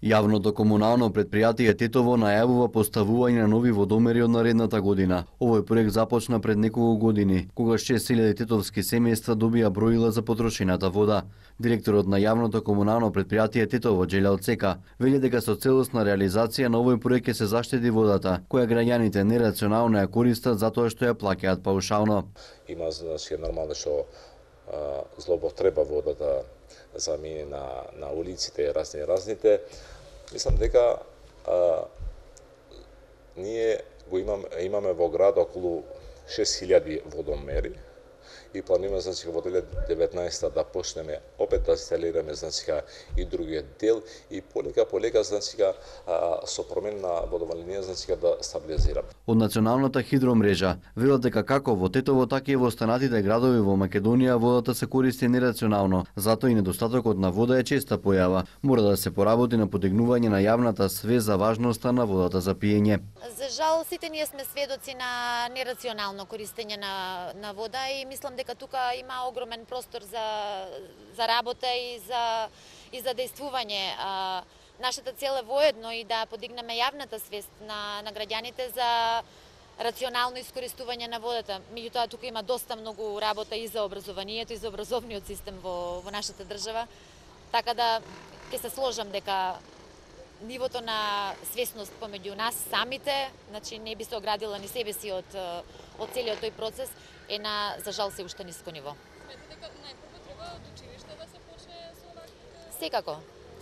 Јавното комунално предпријатие Тетово најавува поставување на нови водомери од наредната година. Овој проект започна пред неколку години, кога 6000 тетовски семејства добија броила за потрошената вода. Директорот на Јавното комунално предпријатие Тетово, Џелјал Цека, вели дека со целосна реализација на овој проект ќе се заштети водата, која граѓаните нерационално ја користат затоа што ја плаќаат паушално. Има нормално што злоупотреба водата замени на улиците разните. Мислам дека ние го имаме во град околу 6000 водомери и планираме во 2019 да почнеме опет да инсталираме и другиот дел и полека со промена на водовна линија да стабилизираме. Од националната хидромрежа велат дека како во Тетово, така и во останатите градови во Македонија водата се користи нерационално, затоа и недостатокот на вода е честа појава. Мора да се поработи на подигнување на јавната свест за важноста на водата за пиење. За жал, сите ние сме сведоци на нерационално користење на вода и мислам дека тука има огромен простор за работа и за действување. Нашата цел е воедно и да подигнеме јавната свест на граѓаните за рационално искористување на водата. Меѓутоа тука има доста многу работа и за образованието и за образовниот систем во нашата држава. Така да ќе се сложам дека нивото на свесност помеѓу нас самите, значи не би се оградила ни себе си од целиот тој процес, е за жал се уште ниско ниво. Сметате дека најпрво треба од училиште да се почне со вакви?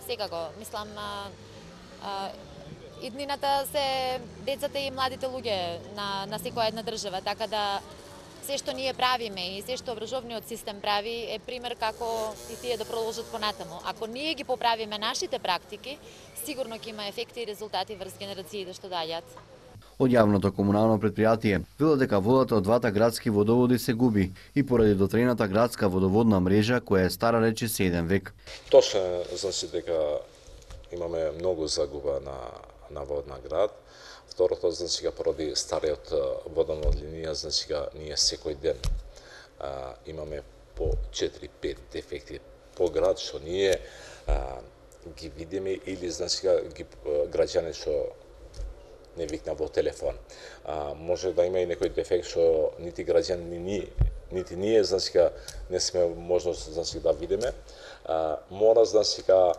Секако. Мислам, иднината се децата и младите луѓе на секоја една држава, така да се што ние правиме и се што образовниот систем прави е пример како и тие да продолжат понатаму. Ако ние ги поправиме нашите практики, сигурно ќе има ефекти и резултати врз генерациите што доаѓаат. Од Јавното комунално предпријатие велат дека водата од двата градски водоводи се губи и поради дотрената градска водоводна мрежа која е стара речиси 1 век. Точно значи дека имаме многу загуба на водна град. Второто значи поради стариот водовна линија, значи ние секој ден имаме по 4-5 дефекти по град што ние ги видиме или значи граѓани што не викна во телефон. Може да има и некој дефект што нити граѓани, нити ние значи не сме можност значи да видиме. Мора значи да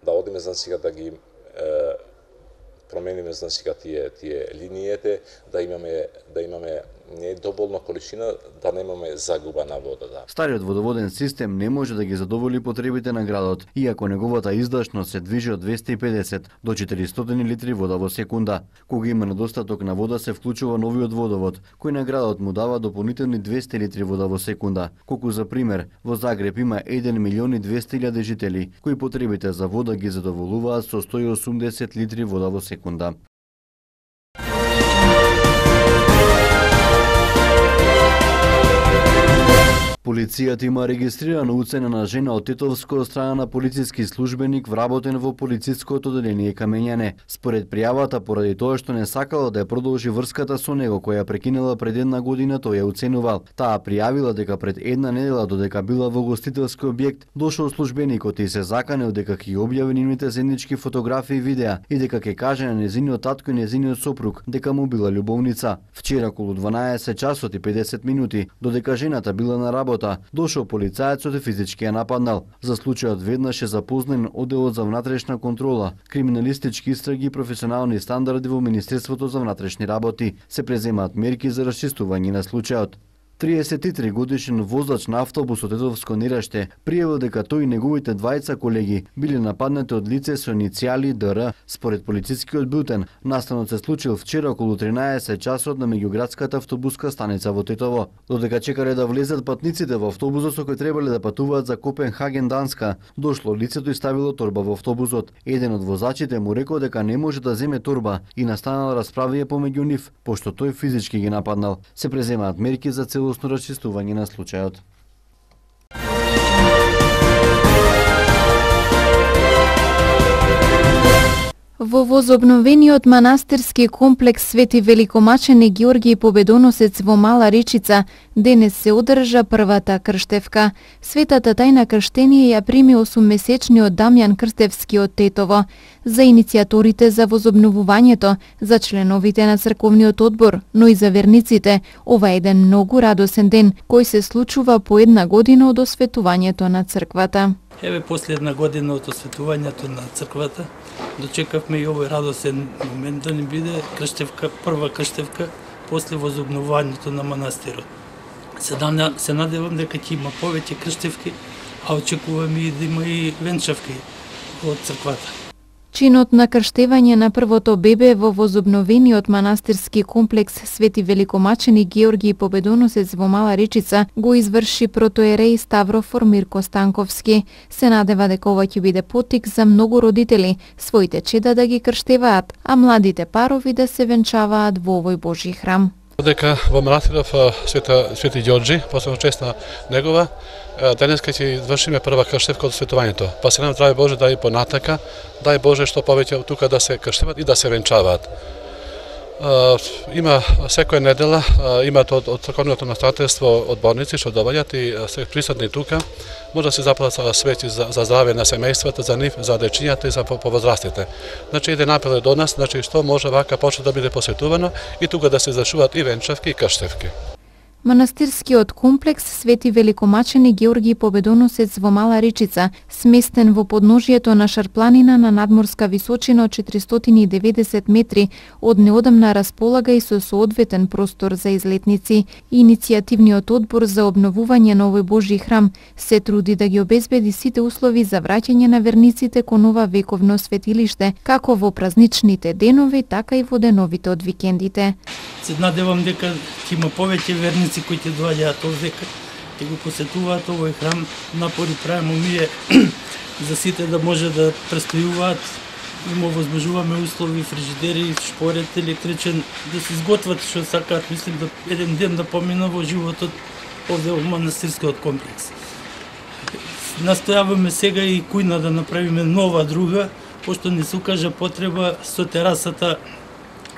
одиме значи да ги промениме значи тие линиите, да имаме не доволна количина, да немаме загуба на водата. Стариот водоводен систем не може да ги задоволи потребите на градот, иако неговата издашност се движи од 250 до 400 литри вода во секунда. Кога има недостаток на вода, се вклучува новиот водовод, кој на градот му дава дополнителни 200 литри вода во секунда. Колку за пример, во Загреб има 1.200.000 жители, кои потребите за вода ги задоволуваат со 180 литри вода во секунда. Полицијата има регистрирана уцена на жена од Тетовско од страна на полициски службеник вработен во полициското одделение Камењане. Според пријавата, поради тоа што не сакала да ја продолжи врската со него која прекинала пред 1 година, тој ја уценувал. Таа пријавила дека пред 1 недела додека била во гостителски објект, дошол службеникот и се заканел дека ќе ги објави нивните заеднички фотографии и видеа и дека ќе каже на незиниот татко и незиниот сопруг дека му била љубовница. Вчера околу 12 часот и 50 минути, додека жената била на работа, дошол полицајецот и физички ја нападнал. За случајот веднаш е запознан одделот за внатрешна контрола, криминалистички истраги и професионални стандарди во Министерството за внатрешни работи. Се преземаат мерки за расчистување на случајот. 33 годишен возач на автобус од Тетовско Нераште пријавил дека тој и неговите двајца колеги биле нападнати од лице со иницијали ДР. Според полицискиот бултен, настанот се случил вчера околу 13 часот на меѓуградската автобуска станица во Тетово. Додека чекале да влезат патниците во автобусот со кој требале да патуваат за Копенхаген, Данска, дошло лицето и ставило торба во автобусот. Еден од возачите му рекол дека не може да земе торба и настанала расправија помеѓу нив, пошто тој физички ги нападнал. Се преземаат мерки за целосно расчистување на случајот. Во возобновениот манастирски комплекс Свети Великомачени Георгиј Победоносец во Мала Речица денес се одржа првата крштевка. Светата тајна крштение ја прими 8-месечниот Дамјан Крстевски од Тетово. За иницијаторите за возобновувањето, за членовите на црковниот одбор, но и за верниците, ова е еден многу радосен ден, кој се случува по една година од осветувањето на црквата. Еве после една година од осветувањето на црквата, дочекавме и овој радосен момент да ни биде крштевка, прва крштевка после возобновувањето на манастирот. Се надевам дека ќе има повеќе крштевки, а очекувам и да има и венчавки од црквата. Чинот на крштевање на првото бебе во возобновениот манастирски комплекс Свети Великомачени Георгиј Победоносец во Мала Речица го изврши протоереј Ставрофор Мирко Станковски. Се надева дека ова ќе биде поттик за многу родители своите чеда да ги крштеваат, а младите парови да се венчаваат во овој Божји храм. Дека во манастиров Свети Ѓорѓи, посебно чест на негова, денес ќе извршиме прва крштевка од светувањето. Па се нам здрави Боже да и понатака, дај Боже што повеќе тука да се крштеват и да се венчаваат. Има секоја недела, имат од црковното наставителство одборници што доаѓаат и се присутни тука. Може да се запалат свечи за здраве на семејствата, за нив, за дечињата и за повозрастите. Значи еден апел до нас, значи што може вака почне да биде посетувано и тука да се извршуваат и венчавки и крштевки. Манастирскиот комплекс Свети Великомачени Георгиј Победоносец во Мала Речица, сместен во подножието на шарпланина на надморска височина од 490 метри, од неодамна располага и со соодветен простор за излетници. Иницијативниот одбор за обновување на овој Божји храм се труди да ги обезбеди сите услови за враќање на верниците кон ова вековно светилиште, како во празничните денови, така и во деновите од викендите. Се надевам дека ќе има повеќе верници кои ќе доаѓаат овдека, ќе го посетуваат овој храм. Напори правиме ние за сите да може да престојуваат. Им овозможуваме услови, фрижидери, шпорет електричен, да се изготват што сакаат. Мислим да еден ден да помина во животот овде во манастирскиот комплекс. Настојаваме сега и кујна да направиме нова друга, пошто не се укажа потреба со терасата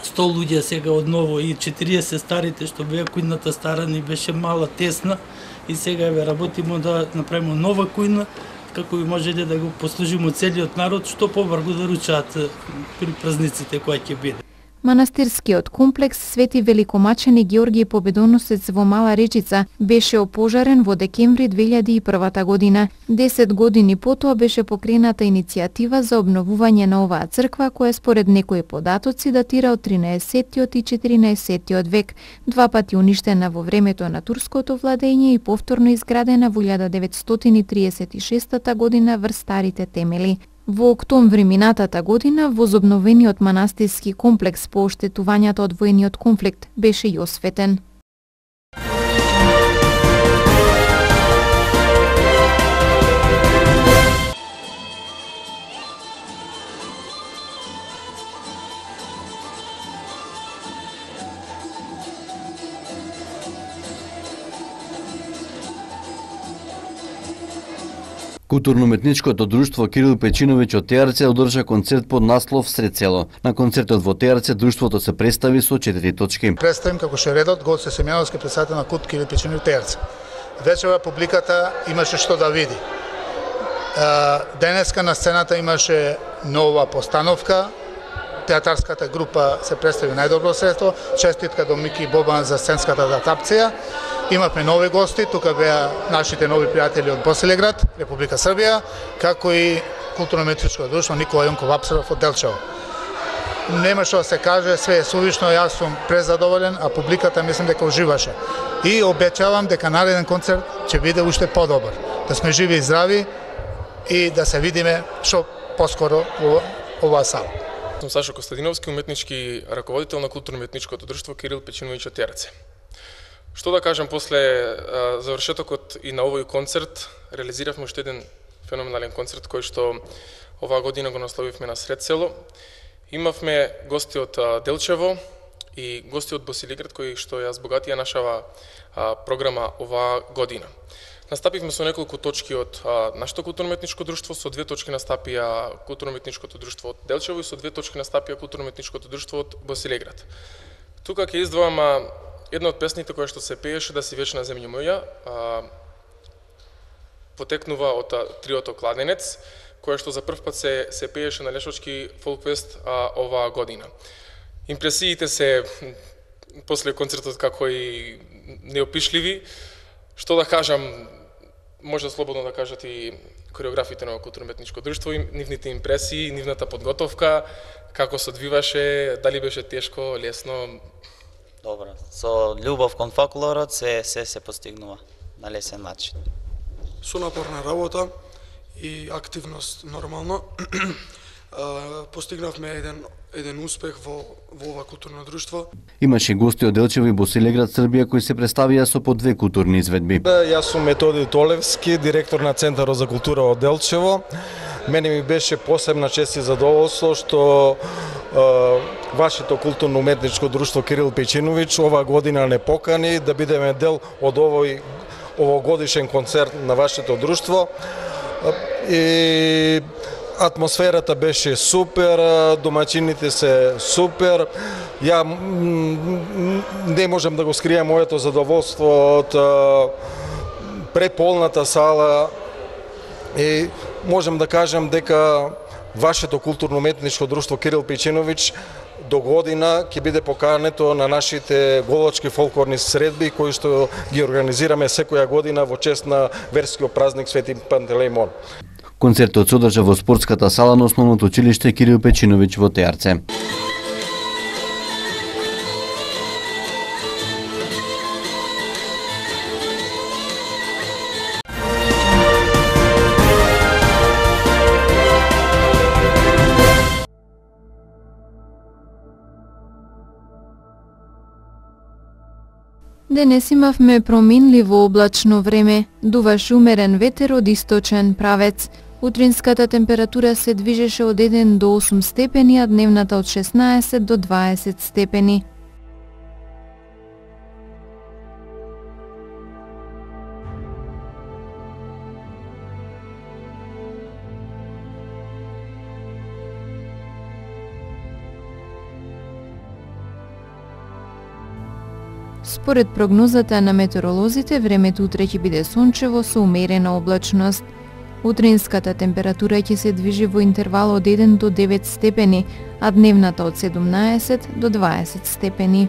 100 луѓе сега одново и 40 старите што беа кујната стара ни беше мала, тесна и сега еве работиме да направиме нова кујна како би можеле да го послужиме целиот народ што побрзо да ручаат при празниците кои ќе биде. Манастирскиот комплекс Свети Великомачени Георгиј Победоносец во Мала Речица беше опожарен во декември 2001 година. 10 години потоа беше покрената иницијатива за обновување на оваа црква, која според некои податоци датира од 13-тиот и 14-тиот век, два пати уништена во времето на турското владење и повторно изградена во 1936 година врз старите темели. Во октомври минатата година возобновениот манастирски комплекс по оштетувањата од воениот конфликт беше и осветен. Културно-уметничкото друштво Кирил Печиновиќ од Теарце одржа концерт под наслов Сред село. На концертот во Теарце друштвото се представи со 4 точки. Представим како ше редот Гоце Семјановски председател на Кут Кирил Печиновиќ Теарце. Вечера публиката имаше што да види. Денеска на сцената имаше нова постановка. Театарската група се представи најдобро средство. Честитка до Мики Бобан за сценската адаптација. Имавме нови гости, тука беа нашите нови пријатели од Босилеград, Република Србија, како и културно-уметничко друштво Никола Јонков Апсаров од Делчево. Нема што да се каже, све е сувишно, јас сум презадоволен, а публиката мислам дека уживаше. И обечавам дека нареден концерт ќе биде уште подобар. Да сме живи и здрави и да се видиме што поскоро во оваа сала. Сум Сашо Костадиновски, уметнички раководител на културно-уметничкото друштво Кирил Печиновиќ од Теарце. Што да кажам, после завршетокот и на овој концерт, реализиравме уште еден феноменален концерт кој што оваа година го насловивме на Сред село. Имавме гости од Делчево и гости од Босилеград кои што ја збогатија нашава програма оваа година. Настапивме со неколку точки од нашето културно-уметничко друштво, со 2 точки настапија културно-уметничкото друштво од Делчево и со 2 точки настапија културно-уметничкото друштво од Босилеград. Тука ќе издвојам една од песните која што се пееше "Да си вечна земјо моја", потекнува од триото Кладенец, која што за прв пат се пееше на Лешочки фолкфест оваа година. Импресиите се после концертот како и неопишливи. Што да кажам, може слободно да кажат и кореографите на културно-уметничко друштво, нивните импресии, нивната подготовка, како се одвиваше, дали беше тешко, лесно? Добро, со љубов кон фолклорот се постигнува на лесен начин. Со напорна работа и активност нормално постигнавме еден успех во ова културно друштво. Имаше гости од Делчево и Босилеград, Србија, кои се представија со по 2 културни изведби. Јас сум Методи Толевски, директор на Центарот за култура од Делчево. Мене ми беше посебна чест и задоволство што вашето културно-уметничко друштво Кирил Печиновиќ ова година не покани да бидеме дел од овогодишен концерт на вашето друштво. И атмосферата беше супер, домаќините се супер. Ја не можам да го скријам моето задоволство од преполната сала и можам да кажам дека вашето културно-уметничко друштво Кирил Печиновиќ до година ќе биде покането на нашите голочки фолклорни средби кои што ги организираме секоја година во чест на верскиот празник Свети Пантелеимон. Концертот се одржа во спортската сала на основното училиште Кирил Печиновиќ во Теарце. Денес имавме проминливо облачно време, дуваше умерен ветер од источен правец. Утринската температура се движеше од 1 до 8 степени, а дневната од 16 до 20 степени. Според прогнозата на метеоролозите, времето утре ќе биде сончево со умерена облачност. Утринската температура ќе се движи во интервал од 1 до 9 степени, а дневната од 17 до 20 степени.